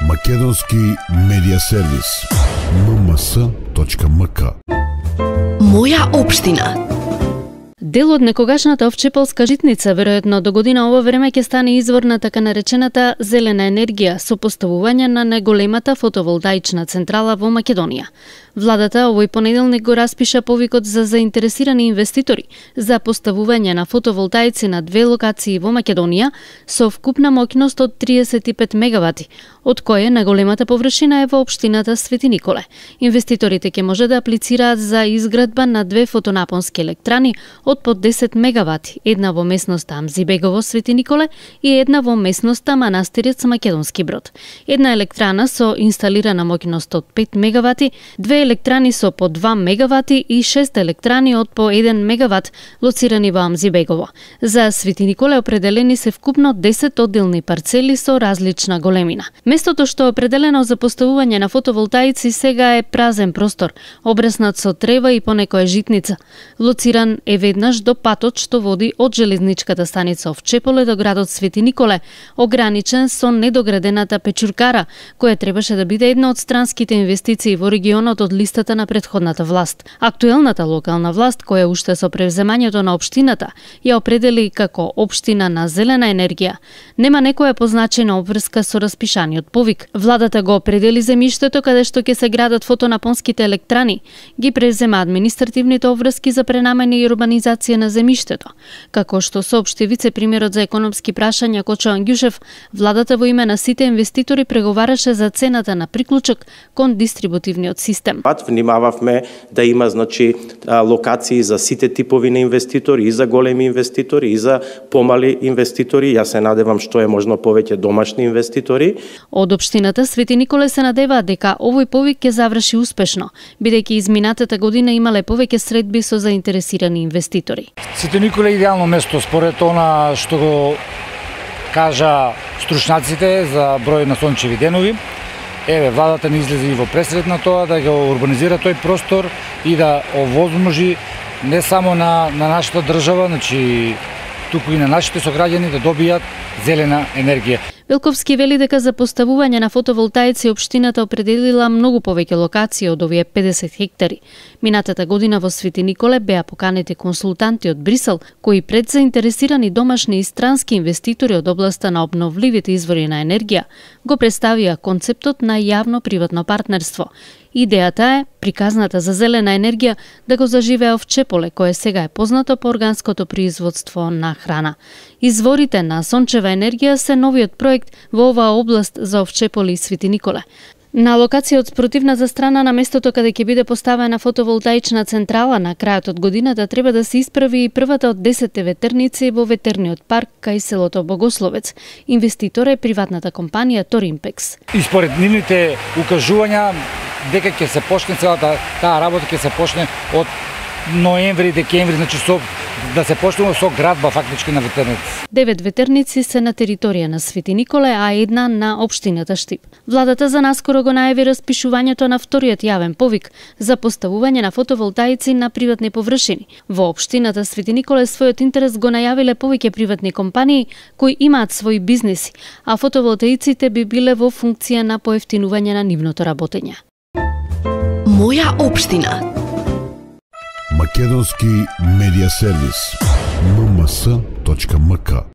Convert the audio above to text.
Македонски медија сервис. mms.mk. Моја општина. Дел од некогашната овчеполска житница, веројатно до година ово време ќе стане извор на така наречената зелена енергија со поставување на најголемата фотоволтаична централа во Македонија. Владата овој понеделник го распиша повикот за заинтересирани инвеститори за поставување на фотоволтаици на 2 локации во Македонија со вкупна моќност од 35 мегавати, од кое најголемата површина е во општината Свети Николе. Инвеститорите ќе може да аплицираат за изградба на 2 фотонапонски електрани од по 10 мегавати, една во месноста Амзибегово Свети Николе и една во месноста Манастирец Македонски Брод. Една електрана со инсталирана моќност од 5 мегавати, 2 електрани со по 2 мегавати и 6 електрани од по 1 мегават лоцирани во Амзибегово. За Свети Николе определени се вкупно 10 одделни парцели со различна големина. Местото што е определено за поставување на фотоволтаици сега е празен простор, обраснат со трева и понекоја житница. Лоциран е веднаш до патот што води од железничката станица Овчеполе до градот Свети Николе, ограничен со недоградената печуркара, која требаше да биде една од странските инвестиции во регионот од листата на претходната власт. Актуелната локална власт, која уште со превземањето на општината ја определи како општина на зелена енергија, нема некоја позначена обврска со распишаниот повик. Владата го определи земјиштето каде што ќе се градат фотонапонските електрани, ги презема административните обврски за пренамена и урбанизација на земјиштето. Како што соопшти вице-премиерот за економски прашања Кочо Ангјушев, владата во име на сите инвеститори преговараше за цената на приклучок кон дистрибутивниот систем. Внимававме да има локации за сите типови на инвеститори, и за големи инвеститори, и за помали инвеститори. Јас се надевам што е можно повеќе домашни инвеститори. Од општината Свети Николе се надеваат дека овој повик ќе заврши успешно, бидејќи изминатата година имале повеќе средби со заинтересирани инвеститори. Свети Николе е идеално место според она што го кажа стручњаците за број на сончеви денови. Владата не излезе и во пресред на тоа да го урбанизира тој простор и да овозможи не само на нашата држава, туку и на нашите сограѓани да добијат зелена енергија. Велковски вели дека за поставување на фотоволтаици општината определила многу повеќе локации од овие 50 хектари. Минатата година во Свети Николе беа поканети консултанти од Брисел, кои пред заинтересирани домашни и странски инвеститори од областа на обновливите извори на енергија го представија концептот на јавно-приватно партнерство. Идејата е приказната за зелена енергија да го заживее Овчеполе, кое сега е познато по органското производство на храна. Изворите на сончева енергија се новиот проект во оваа област за Овчеполе и Свети Николе. На локација од спротивната страна на местото каде ќе биде поставена фотоволтаична централа на крајот од годината треба да се исправи и првата од 10 ветерници во ветерниот парк кај селото Богословец. Инвеститор е приватната компанија Торимпекс. И според нивните укажувања дека ќе се почне целата таа работа ќе се почне од ноември, декември, да се почнува со градба фактички на ветерници. 9 ветерници се на територија на Свети Николе, а една на општината Штип. Владата за наскоро го најави распишувањето на вториот јавен повик за поставување на фотоволтаици на приватни површини. Во општината Свети Николе својот интерес го најавиле повеќе приватни компании кои имаат своји бизнеси, а фотоволтаиците би биле во функција на поевтинување на нивното работење. Моја општина. Македонски медија сервис. mms.mk.